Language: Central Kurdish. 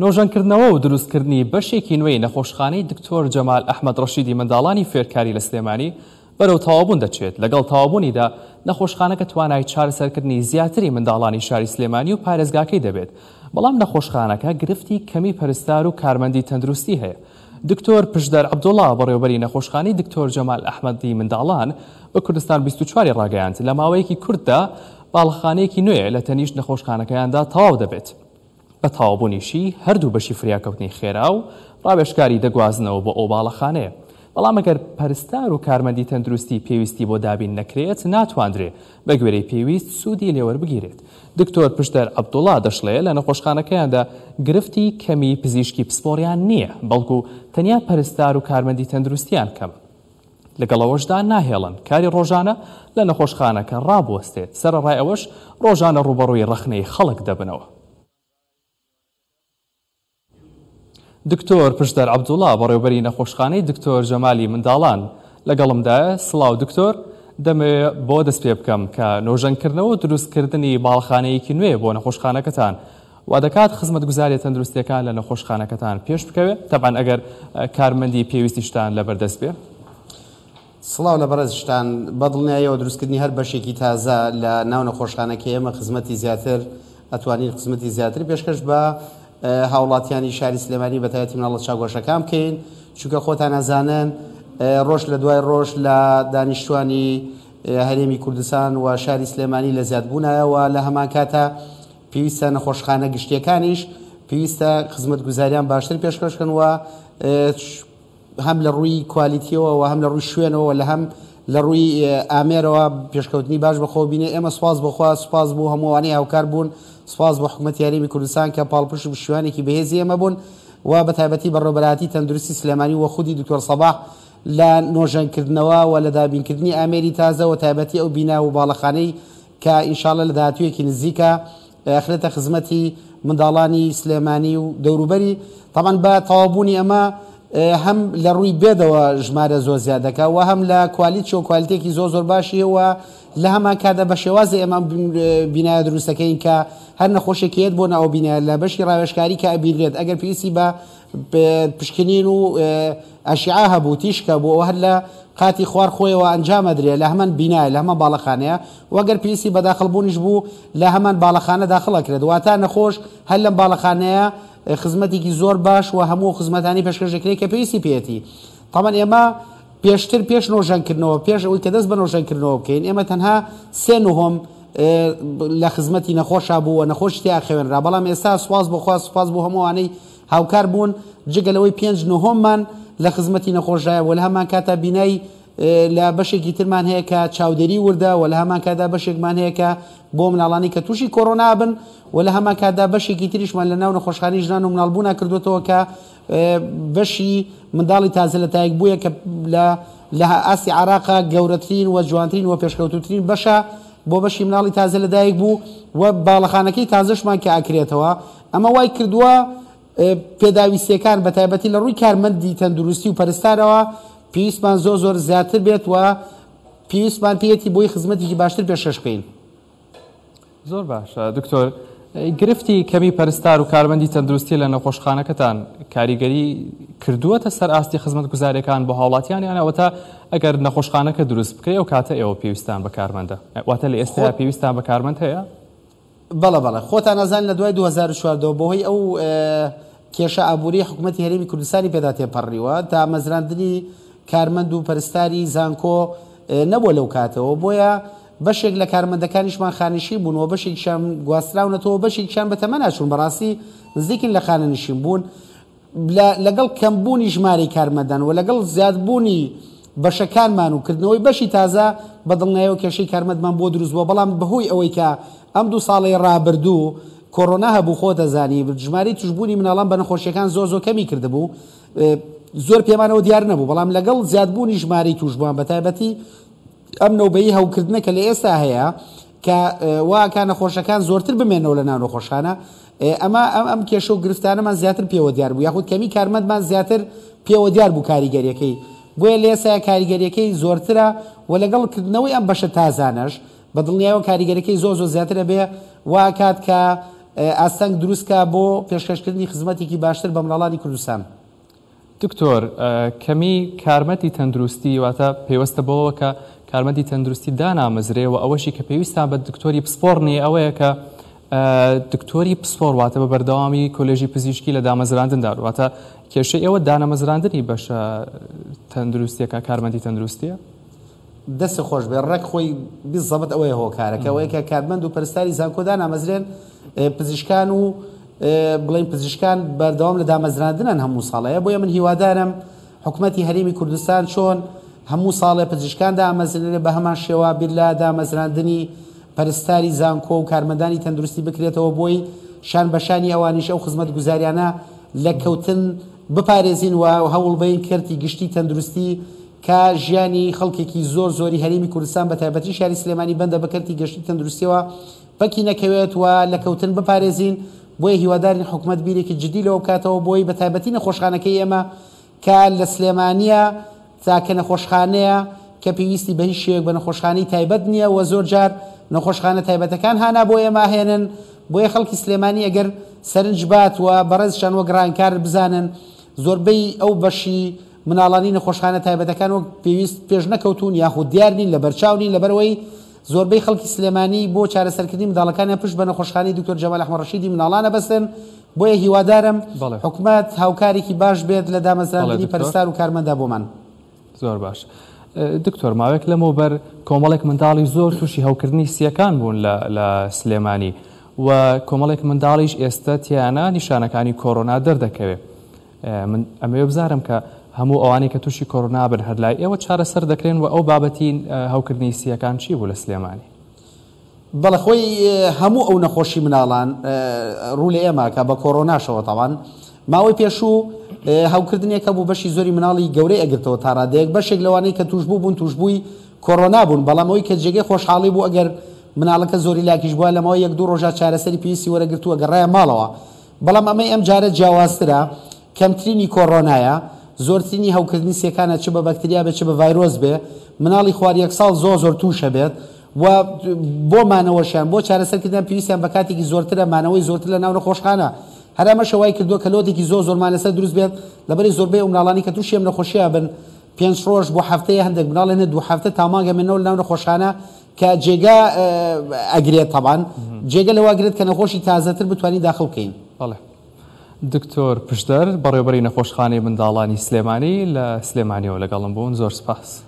نۆژەنکردنەوە و دروستکردنی بەشێکی نوێی نەخۆشخانەی دکتۆر جەمال ئەحمەد ڕەشیدی منداڵانی فێرکاری لە سلێمانی بەرەو تەواوبوون دەچێت، لەگەڵ تەواوبوونیدا نەخۆشخانەکە توانای چارەسەرکردنی زیاتری منداڵانی شاری سلێمانی و پارێزگاکەی دەبێت، بەڵام نەخۆشخانەکە گرفتی کەمی پەرستار و کارمەندی تەندروستی هەیە. دکتۆر پشدەر عەبدوڵا، بەڕێوەبەری نەخۆشخانەی دکتۆر جەمال ئەحمەدی منداڵان بە کوردستان 24 ی ڕاگەیاند، لە ماوەیەکی کورتدا باڵەخانەیەکی نوێ لە تەنیشت نەخۆشخانەکەیاندا تەواو دەبێت. بە تەواوبوونیشی هەردوو بەشی فریاکەوتنی خێرا و ڕاوێژکاری دەگوازنەوە بۆ ئەو باڵەخانەیە. بەڵام ئەگەر پەرستار و کارمەندی تەندروستی پێویستی بۆ دابین نەکرێت ناتواندرێ بەگوێرەی پێویست سوودی لێوەربگیرێت. دکتۆر پشدەر عەبدوڵا دەشڵێ لە نەخۆشخانەکەیاندا گرفتی کەمی پزیشکی پسپۆڕیان نییە، بەڵکو تەنیا پەرستار و کارمەندی تەندروستیان کەمە. لەگەڵ ئەوەشدا ناهێڵن کاری ڕۆژانە لە نەخۆشخانەکە ڕابوەستێت، سەرەڕای ئەوەش ڕۆژانە ڕووبەڕووی ڕەخنەی خەڵک دەبنەوە. دکتۆر پشدەر عەبدوڵا، بەڕێوبەری نەخۆشخانەی دکتۆر جەمالی منداڵان لەگەڵمدایە، سڵاو دکتۆر، دەمەوێ بۆ دەست پێ بکەم کە نۆژەنکردنەوە و دروستکردنی باڵەخانەیەکی نوێ بۆ نەخۆشخانەکەتان وادەکات خزمەتگوزاریە تەندروستیەکان لە نەخۆشخانەکەتان پێش بکەوێ، تەبعەن ئەگەر کارمەندی پێویستیشتان لەبەردەست بێ. سڵاو لە بەڕێزشتان، بەدڵنیایەوە دروستکردنی هەر بەشێکی تازە لە ناو نەخۆشخانەکەی ئێمە خزمەتی زیاتر ئەتوانین خزمەتی زیاتر پێشکەش بە هاوڵاتیانی شاری سلێمانی بەتایبەتی مناڵە چاوگۆشەکان بکەین چونکە خۆتان ئەزانن ڕۆژ لە دوای ڕۆژ لە دانیشتوانی هەرێمی کوردستان و شاری سلێمانی لە زیادبوونایە و لە هەمان کاتە پێویستە نەخۆشخانە گشتیەکانیش پێویستە خزمەتگوزاریان باشتر پێشکەش بکەن و هەم لە ڕووی کوالیتیەوە و هەم لە ڕووی شوێنەوە لە هەم لە ڕووی ئامێرەوە پێشکەوتنی باش بەخۆ بینێ ئێمە سوپاس بۆخوا سوپاس بۆ هەمووانەی هاوکار بوون سوپاس بۆ حکوومەتی هەرێمی کوردستان کە پاڵپشت و پشتیوانێکی بەهێزی ئێمە بوون و بە تایبەتی بەڕێوەبەرایەتی تەندروستی سلێمانی و خودی دکتۆر سەباح لە نۆژەنکردنەوە و لە دابینکردنی ئامێری تازە و تایبەتی ئەو بینا و باڵەخانەی کە ان شاءاللە لە داهاتوویەکی نزیکا ئەخرێتە خزمەتی منداڵانی سلێمانی و دەوروبەری، تەبعەن بە تەواوبوونی ئەمە هەم لە ڕووی bed ەوە ژمارە زۆر زیاد دەکا و هەم لە کوالیتیەوە کوالیتێکی زۆر زۆر باشی هەیە و لە هەمان کاتدا بە شێوازی ئێمە ئەم بینایە دروست دەکەین کە هەر نەخۆشێک یەت بۆ ناو بینایە لە بەشی ڕاوێژکاری کە ئەبینرێت ئەگەر پێویستی بە پشکنین و ئەشعە هەبوو تیشک هەبوو ئەوە هەر لە قاتی خوار خۆیەوە ئەنجام ئەدرێ لە هەمان بینایە لە هەمان باڵەخانەیە و گەر پێویستی بە داخڵ بوونیش بوو لە هەمان باڵەخانە داخڵ ئەکرێت واتە نەخۆش هەر لەم باڵەخانەیە خزمەتێکی زۆر باش و هەموو ئەو خزمەتانەی پێشکەش دەکرێت کە پێویستی پێیەتی تەبعەن ئێمە پێشتر پێش نۆژەنکردنەوە پێش ئەوەی کە دەست بە نۆژەنکردنەوە بکەین ئێمە تەنها سێ نهۆم لە خزمەتی نەخۆشا بوو و نەخۆشی تیا خەوێنرا بەڵام ئێستا سوپاس بۆ خوا سوپاس بۆ هەموو ئەوانەی هاوکار بوون، جگە لەوەی پێنج نهۆممان لە خزمەتی نەخۆشدایە و لە هەمان کاتدا بینای لە بەشێکی ترمان هەیە کە چاودێری وردە و لە هەمان کاتدا بەشێکمان هەیە کە بۆ مناڵانی کە تووشی کۆرۆنا بن و لە هەمان کاتدا بەشێکی تریشمان لە ناو نەخۆشخانەی ژنان و مناڵبوونا کردوێتەوە کە بەشی منداڵی تازە لە دایک بووە کە لە لە ئاستی عراقا گەورەترین و جوانترین و پێشکەوتوترین بەشە بۆ بەشی مناڵی تازە لەدایک بوو و باڵەخانەکەی تازەشمان کە ئەکرێتەوە ئەمە وای کردووە پێداویستییەکان بە تایبەتی لە ڕووی کارمەندی تەندروستی و پەرستارەوە پێویستمان زۆر زۆر زیاتر بێت و پێویستمان پێیەتی بۆی خزمەتێکی باشتر پێشکەش بکەین. زۆر باشە دکتۆر، گرفتی کەمی پەرستار و کارمەندی تەندروستی لە نەخۆشخانەکەتان کاریگەری کردووەتە سەر ئاستی خزمەتگوزاریەکان بۆ هاوڵاتیان یان ئەوەتا ئەگەر نەخۆشخانەکە دروست بکرێ ئەو کاتە ئێوە پێویستان بە کارمەندە واتە لە ئێستایا پێویستان بە کارمەند هەیە؟ بەڵێ بەڵێ خۆتان ئەزانن لە دوای 2014 ەوە بەهۆی ئەو کێشە ئابووریەی حکوومەتی هەرێمی کوردستانی پێدا تێپەڕیوە دامەزراندنی کارمەند و پەرستاری زانکۆ نەبووە لەو کاتەوە بۆیە بەشێک لە کارمەندەکانیشمان خانەنشین بوون و بەشێکیشان گواستراونەتەوە بەشێکیشان بە تەمەنا چوون بەڕاستی نزیکن لە خانەنشین بوون لەگەڵ کەمبوونی ژمارەی کارمەندان و لەگەڵ زیادبوونی بەشەکانمان و کردنەوەی بەشی تازە، بەدڵنیایەوە کێشەی کارمەندمان بۆ دروست بووە، بەڵام بەهۆی ئەوەی کە ئەم دوو ساڵەی ڕابردوو کۆرۆنا هەبوو خۆت ئەزانی ژمارەی توشبوونی مناڵان بە نەخۆشیەکان زۆر زۆر کەمی کردبوو زۆر پێمانەوە دیار نەبوو، بەڵام لەگەڵ زیادبوونی ژمارەی توشبووان بەتایبەتی ئەم نەوبەی هەوکردنە کە لە ئێستا هەیە کە وا ئەکا نەخۆشەکان زۆرتر بمێنەوە لە ناو نەخۆشخانە، ئەمە ئەم ئەم کێشە و گرفتانەمان زیاتر پێوە دیار بوو یاخود کەمی کارمەندمان زیاتر پێوە دیار بوو کاریگەریەکەی بۆیە لە ئێستایا کاریگەریەکەی زۆرترە و لەگەڵ کردنەوەی ئەم بەشە تازانەش بە دڵنیایەوە کاریگەریەکەی زۆر زۆر زیاتر ئەبێ وا ئەکات کە ئاستەنگ دروست کا بۆ پێشکەشکردنی خزمەتێکی باشتر بە مناڵانی کوردستان. دکتۆر، کەمی کارمەندی تەندروستی واتە پەیوەستە بەوەوە کە کارمەندی تەندروستی دانامەزرێ و ئەوەشی کە پێویستان بە دکتۆری پسپۆڕ نییە ئەوەیە کە دکتۆری پسپۆڕ واتە بە بەردەوامی کۆلێژی پزیشکی لە دامەزراندندا واتە کێشەی ئێوە دانەمەزراندنی بەشە تەندروستیەکە کارمەندی تەندروستیە؟ دەستت خۆش بێت ڕێک خۆی بیزەبت ئەوەیە هۆکارەکە ئەوەیە کە کارمەند و پەرستاری زانکۆ دانامەزرێن پزیشکان و بڵێن پزیشکان بەردەوام لە دامەزراندنن هەموو ساڵەیە بۆیە من هیوادارم حکومەتی هەرێمی کوردستان چۆن هەموو ساڵێ پزیشکان دامەزرێنێ بە هەمان شێوە بیر لە دامەزراندنی پەرستاری زانکۆ و کارمەندانی تەندروستی بکرێتەوە بۆی شان بەشانی ئەوانیش ئەو خزمەتگوزاریانە لە کەوتن بپارێزین و هەوڵبەین کەرتی گشتی تەندروستی کە ژیانی خەڵکێکی زۆر زۆری هەرێمی کوردستان بە تایبەتی شاری سلێمانی بەندە بە کەرتی گەشتی تەندروستیەوە پەکی نەکەوێت و لە کەوتن بپارێزین، بۆیە هیوادارین حکومەت بیرێکی جدی لەوە بکاتەوە بۆی بە تایبەتی نەخۆشخانەکەی ئێمە کە لە سلێمانیە تاکە نەخۆشخانەیە کە پێویستی بە هیچ شێوەیەک بە نەخۆشخانەی تایبەت نییە و زۆر جار نەخۆشخانە تایبەتەکان هانا بۆ ئێمە ئەهێنن بۆیە خەڵکی سلێمانی ئەگەر سەرنج بات و بەڕێزشان وەک ڕانکار بزانن زۆربەی ئەو بەشی مناڵانی نەخۆشخانە تایبەتەکان وەک پێویست پێش نەکەوتوون یاخود دیار نین لەبەرچاو نین لەبەرئەوەی زۆربەی خەڵکی سلێمانی بۆ چارەسەرکردنی منداڵەکانیان پشت بە نەخۆشخانەی دکتۆر جەمال ئەحمەد ڕەشیدی منداڵان ئەبەستن بۆیە هیوادارم حکومەت هاوکارێکی باش بێت لە دامەزراندنی پەرستار و کارمەندا بۆمان. زۆر باش دکتۆر ماوەیەک لەمەوبەر کۆمەڵێک منداڵی زۆر تووشی هەوکردنی سییەکان بوون لە سلێمانی و کۆمەڵێک منداڵیش ئێستا تیانە نیشانەکانی کۆرۆنا دەردەکەوێت من ئەمەوێ بزانم کە هەموو ئەوانەی کە تووشی کۆرۆنا بن هەر لای ئێوە چارەسەر دەکرێن و ئەو بابەتی هەوکردنی سییەکان چی بوو لە سلێمانی؟ بەڵێ خۆی هەموو ئەو نەخۆشی مناڵان ڕوو لە ئێمە کە بە کۆرۆناشەوە تاوان ماوەی پێشوو هەوکردنێک هەبوو بەشی زۆری مناڵی گەورەی ئەگرتەوە تا ڕادەیەک بەشێک لەوانەی کە توشبوو بوون توشبووی کۆرۆنا بوون بەڵام ئەوەی کە جێگەی خۆشحاڵی بوو ئەگەر مناڵەکە زۆری لاکیش بووە لە ماوەی یەک دوو ڕۆژا چارەسەری پێویستی وەرەگرتووە گەڕایە ماڵەوە بەڵام ئەمەی ئەم جارە جیاوازترە، کەمترینی کۆڕۆنایە، زۆرترینی هەوکردنی سیەکانە چ بە بەکتریا بێت چ بە ڤایرۆس بێ، مناڵی خوار یەک ساڵ زۆر زۆر تووشە بێت و بۆ مانەوەشیان بۆ چارەسەر کردنیان پێویستیان بە کاتێکی زۆرترە مانەوەی زۆرتر لە ناو نەخۆشخانە هەر ئەمەشە وای کردووە کە لۆدێکی زۆر زۆرمان لەسەر دروست بێت لەبەری زۆربەی ئەو مناڵانی کە تووشی ئەم نەخۆشیە بن پێنج ڕۆژ بۆ هەفتەیە هەندێک مناڵ هەنێ دوو هەفتە تا مانگ ئەمێنەوە لەناو نەخۆشخانە کە جێگا ئەگرێت تەبان جێگە لەوە ئەگرێت کە نەخۆشی تازەتر بتوانین داخڵ بکەین. بەڵێ دکتۆر پشدەر بەڕێوبەری نەخۆشخانەی منداڵانی سلێمانی لە سلێمانیەوە لەگەڵم بوون زۆر سپاس.